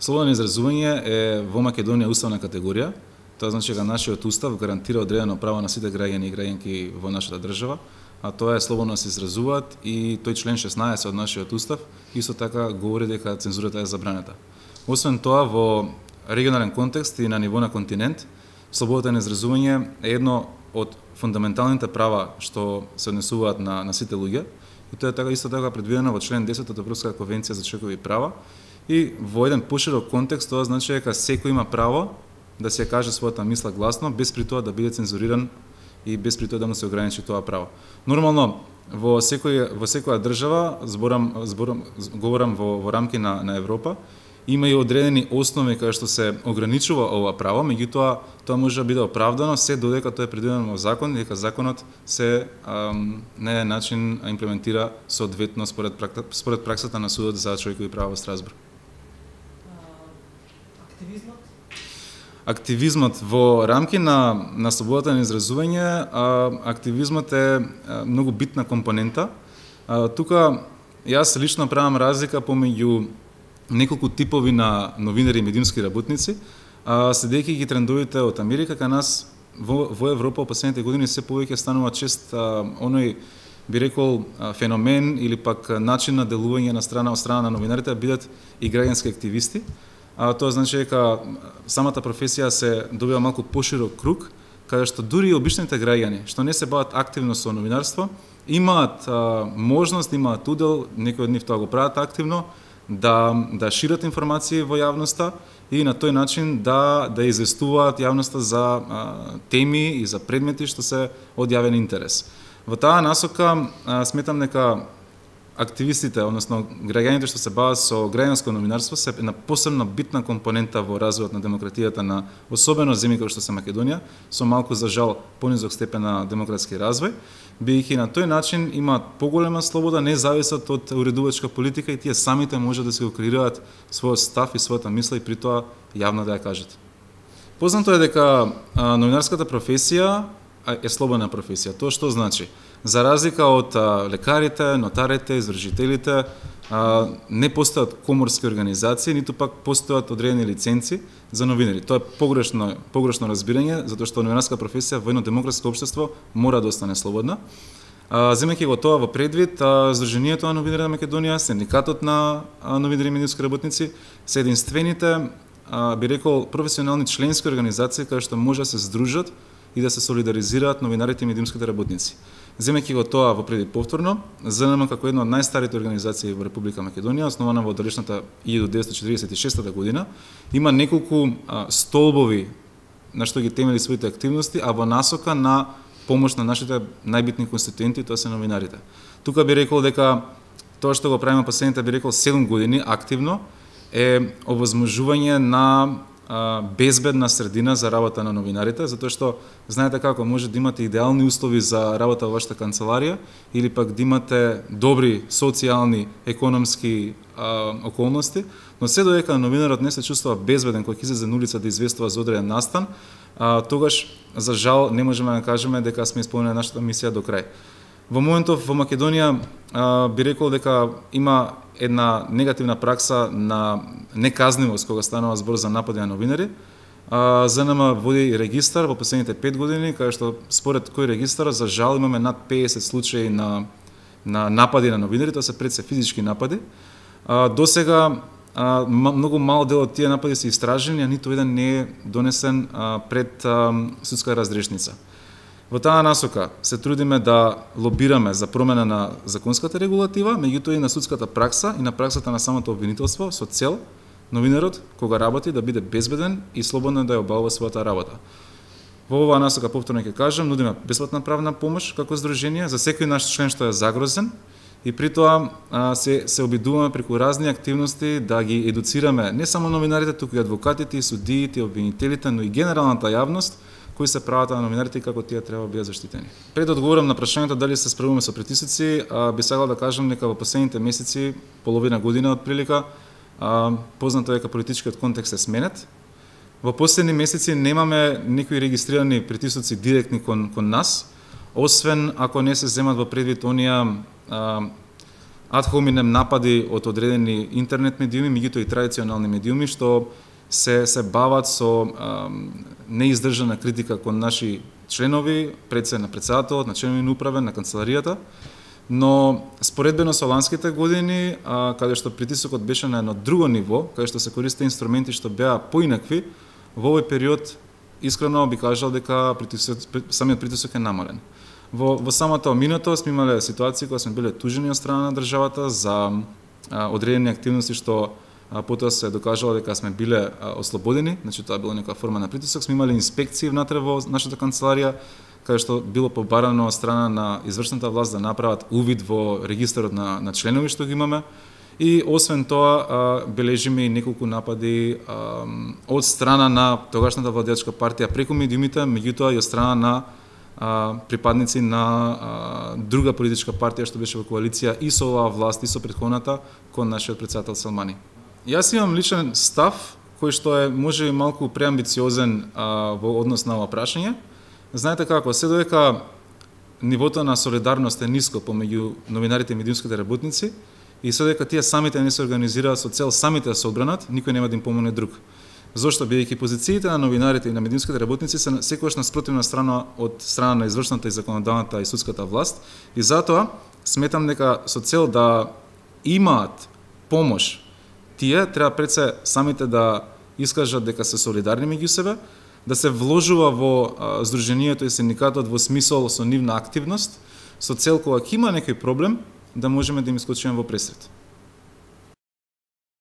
Слобода на изразување е во Македонија уставна категорија. Тоа значи дека нашиот устав гарантира одредено право на сите граѓани и граѓанки во нашата држава, а тоа е слободно да се изразуваат и тој член 16 од нашиот устав исто така говори дека цензурата е забранета. Освен тоа, во регионален контекст и на ниво на континент, слободата на изразување е едно од фундаменталните права што се однесуваат на сите луѓе, и тоа е така исто така предвидено во член 10 од Европската конвенција за човекови права, и во еден поширок контекст тоа значи дека секој има право да се каже својата мисла гласно, без при тоа да биде цензуриран и без при тоа да му се ограничи тоа право. Нормално, во секоја држава, говорам во рамки на Европа, има и одредени основи кај што се ограничува ова право, меѓутоа тоа може да биде оправдано се додека тоа е предвидено во закон, дека законот се на еден начин имплементира соодветно според праксата на судот за човекови права во Страсбург. Активизмот во рамки на слободата на изразување, активизмот е многу битна компонента. Тука јас лично правам разлика помеѓу неколку типови на новинари и медиумски работници, следејќи ги трендовите од Америка, кај нас во Европа во последните години се повеќе станува чест оној, би рекол, феномен или пак начин на делување од страна на новинарите да бидат и граѓански активисти. Тоа значи дека самата професија се добива малку поширок круг, каде што дури и обичните граѓани, што не се бават активно со новинарство, имаат можност, имаат удел, некои од нив тоа го прават активно, да шират информации во јавноста и на тој начин да известуваат јавноста за теми и за предмети што се од јавен интерес. Во таа насока сметам дека активистите, односно граѓаните што се бават со граѓанско новинарство, се една посебно битна компонента во развојот на демократијата на особено земји како што се Македонија, со малку за жал понизок степен на демократски развој, бидејќи на тој начин имаат поголема слобода, не зависат од уредувачка политика и тие самите можат да се го креираат својот став и својата мисла и при тоа јавно да ја кажат. Познато е дека новинарската професија е слободна професија. Тоа што значи? За разлика од лекарите, нотарите, извршителите, не постојат коморски организации, ниту пак постојат одредени лиценци за новинари. Тоа е погрешно разбирање, затоа што новинарска професија во едно демократско општество мора да остане слободна. Земејќи го тоа во предвид, Сдруженијето на новинари на Македонија, Синдикатот на новинари и медиумски работници се единствените, би рекол, професионални членски организации кои што може да се здружат и да се солидаризираат новинарите и медиумските работници. Земејќи го тоа во предвид повторно, ЗНМ како една од најстарите организации во Република Македонија, основана во далечната 1946 година, има неколку столбови на што ги темели своите активности, а во насока на помош на нашите најбитни конституенти, тоа се новинарите. Тука би рекол дека тоа што го правиме последните, би рекол, 7 години активно е овозможување на безбедна средина за работа на новинарите, затоа што знаете како може да имате идеални услови за работа во вашата канцеларија или пак да имате добри социјални, економски околности, но се додека новинарот не се чувствува безбеден кога ќе излезе на улица да известува за одреден настан, тогаш за жал не можеме да кажеме дека сме исполнили нашата мисија до крај. Во моментов во Македонија би рекол дека има една негативна пракса на неказнивост кога станува збор за напади на новинари. ЗНМ води регистар во последните 5 години, кај што според кој регистар за жал имаме над 50 случаи на напади на новинари, тоа се пред се физички напади. До сега многу мал дел од тие напади се истражени, а ниту еден не е донесен пред судска разрешница. Во таа насока се трудиме да лобираме за промена на законската регулатива, меѓутоа и на судската пракса и на праксата на самото обвинителство со цел новинарот кога работи да биде безбеден и слободно да ја обавува својата работа. Во оваа насока повторно ќе кажам, нудиме бесплатна правна помош како здружение за секој наш член што е загрозен и при тоа се обидуваме преку разни активности да ги едуцираме не само новинарите, туку и адвокатите, и судиите, и обвинителите, но и генералната јавност кои се правата на новинарите и како тие треба да бидат заштитени. Пред да одговорам на прашањето дали се справуваме со притисоци, би сакал да кажам дека во последните месеци, половина година отприлика, познато е дека политичкиот контекст е сменет. Во последни месеци немаме некои регистрирани притисоци директни кон нас, освен ако не се земат во предвид оние ад хоминем напади од одредени интернет медиуми, меѓутоа и традиционални медиуми што се бават со неиздржана критика кон наши членови, на председателот, на членови на управа, на канцеларијата. Но споредбено со ланските години, каде што притисокот беше на едно друго ниво, каде што се користеа инструменти што беа поинакви, во овој период искрено би кажал дека самиот притисок е намален. Во самото минато сме имале ситуации кога сме биле тужени од страна на државата за одредени активности што потоа се докажало дека сме биле ослободени, значи тоа било некоја форма на притисок. Сме имале инспекции внатре во нашата канцеларија, каде што било побарано од страна на извршната власт да направат увид во регистарот на членови што ги имаме. И освен тоа, бележиме и неколку напади од страна на тогашната владеачка партија преку медиумите, меѓутоа и од страна на припадници на друга политичка партија што беше во коалиција и со оваа власт и со претходната кон нашиот председател Селмани. Јас имам личен став кој што е може малку преамбициозен во однос на ова прашање. Знаете како, се додека нивото на солидарност е ниско помеѓу новинарите и медиумските работници и се додека тие самите не се организираат со цел самите да се одбранат, никој нема да им помогне друг. Зошто бидејќи позициите на новинарите и на медиумските работници се секогаш на спротивна страна од страна на извршната и законодавната и судската власт и затоа сметам дека со цел да имаат помош тие треба пред се самите да искажат дека се солидарни меѓу себе, да се вложува во здруженијето и синдикатот во смисол со нивна активност, со цел кога ќе има некој проблем, да можеме да им искочиме во пресрет.